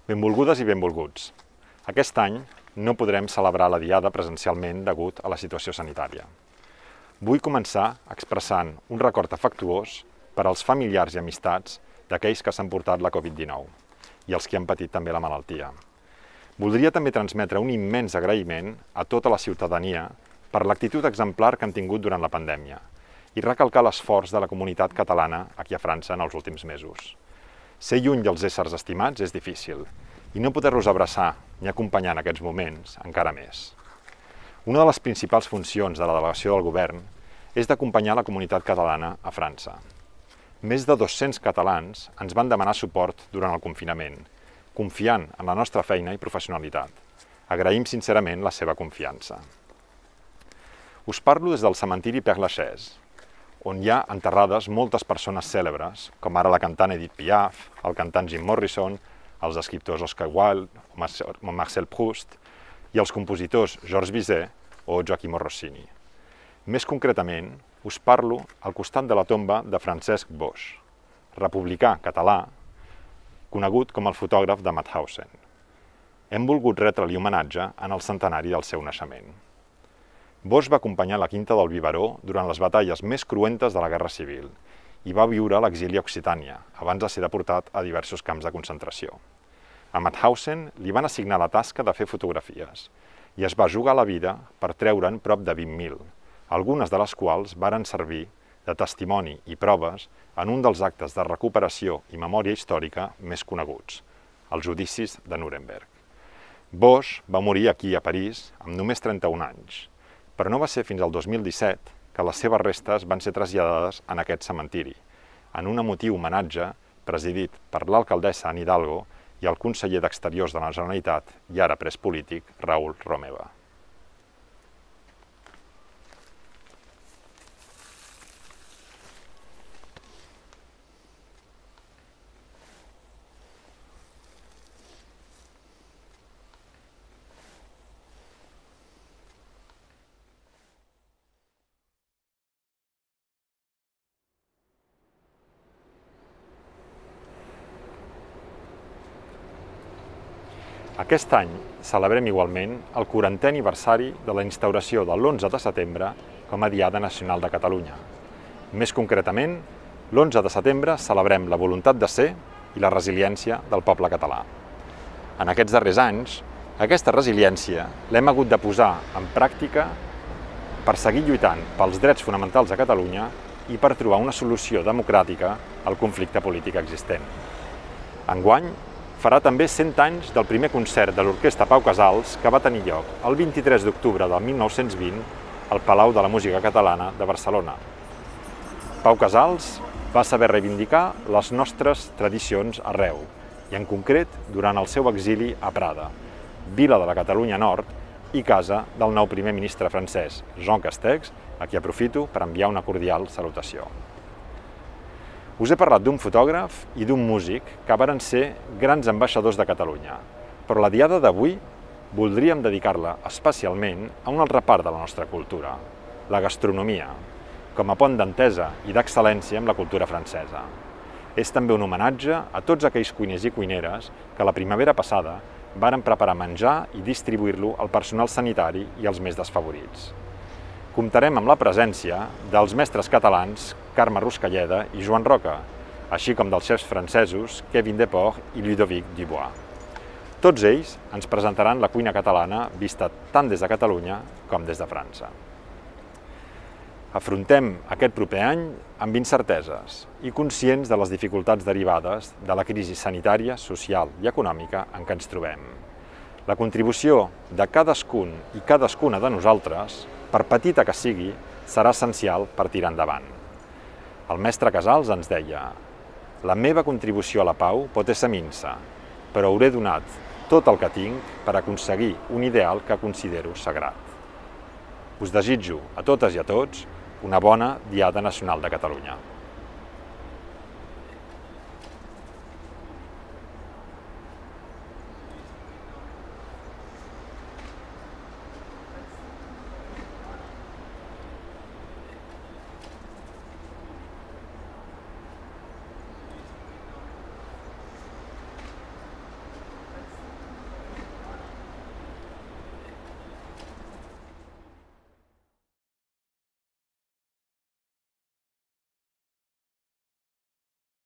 Benvolgudes i benvolguts. Aquest any no podrem celebrar la Diada presencialment degut a la situació sanitària. Vull començar expressant un record afectuós per als familiars i amistats d'aquells que s'han portat la Covid-19 i els que han patit també la malaltia. Voldria també transmetre un immens agraïment a tota la ciutadania per l'actitud exemplar que han tingut durant la pandèmia i recalcar l'esforç de la comunitat catalana aquí a França en els últims mesos. Ser lluny dels éssers estimats és difícil i no poder-los abraçar ni acompanyar en aquests moments encara més. Una de les principals funcions de la delegació del govern és d'acompanyar la comunitat catalana a França. Més de 200 catalans ens van demanar suport durant el confinament, confiant en la nostra feina i professionalitat. Agraïm sincerament la seva confiança. Us parlo des del cementiri Père-Lachaise, on hi ha enterrades moltes persones cèlebres, com ara la cantant Edith Piaf, el cantant Jim Morrison, els escriptors Oscar Wilde o Marcel Proust i els compositors Georges Bizet o Gioachino Rossini. Més concretament, us parlo al costat de la tomba de Francesc Boix, republicà català, conegut com el fotògraf de Mauthausen. Hem volgut retre-li homenatge en el centenari del seu naixement. Boix va acompanyar la Quinta del Biberó durant les batalles més cruentes de la Guerra Civil i va viure a l'exili a Occitània, abans de ser deportat a diversos camps de concentració. A Mauthausen li van assignar la tasca de fer fotografies i es va jugar la vida per treure'n prop de 20.000, algunes de les quals varen servir de testimoni i proves en un dels actes de recuperació i memòria històrica més coneguts, els judicis de Nuremberg. Boix va morir aquí a París amb només 31 anys, però no va ser fins al 2017 que les seves restes van ser traslladades en aquest cementiri, en un emotiu homenatge presidit per l'alcaldessa Anne Hidalgo i el conseller d'Exteriors de la Generalitat i ara pres polític, Raül Romeva. Aquest any celebrem igualment el 40è aniversari de la instauració de l'11 de setembre com a Diada Nacional de Catalunya. Més concretament, l'11 de setembre celebrem la voluntat de ser i la resiliència del poble català. En aquests darrers anys, aquesta resiliència l'hem hagut de posar en pràctica per seguir lluitant pels drets fonamentals a Catalunya i per trobar una solució democràtica al conflicte polític existent. Enguany, farà també 100 anys del primer concert de l'Orquestra Pau Casals que va tenir lloc el 23 d'octubre del 1920 al Palau de la Música Catalana de Barcelona. Pau Casals va saber reivindicar les nostres tradicions arreu, i en concret durant el seu exili a Prada, vila de la Catalunya Nord i casa del nou primer ministre francès, Jean Castex, a qui aprofito per enviar una cordial salutació. Us he parlat d'un fotògraf i d'un músic que varen ser grans ambaixadors de Catalunya, però la diada d'avui voldríem dedicar-la especialment a una altra part de la nostra cultura, la gastronomia, com a pont d'entesa i d'excel·lència amb la cultura francesa. És també un homenatge a tots aquells cuiners i cuineres que la primavera passada varen preparar menjar i distribuir-lo al personal sanitari i als més desfavorits. Comptarem amb la presència dels mestres catalans Carme Ruscalleda i Joan Roca, així com dels xefs francesos Kevin Deport i Ludovic Dubois. Tots ells ens presentaran la cuina catalana vista tant des de Catalunya com des de França. Afrontem aquest proper any amb incerteses i conscients de les dificultats derivades de la crisi sanitària, social i econòmica en què ens trobem. La contribució de cadascun i cadascuna de nosaltres, per petita que sigui, serà essencial per tirar endavant. El mestre Casals ens deia: «La meva contribució a la pau pot ésser minsa, però hauré donat tot el que tinc per aconseguir un ideal que considero sagrat». Us desitjo a totes i a tots una bona Diada Nacional de Catalunya.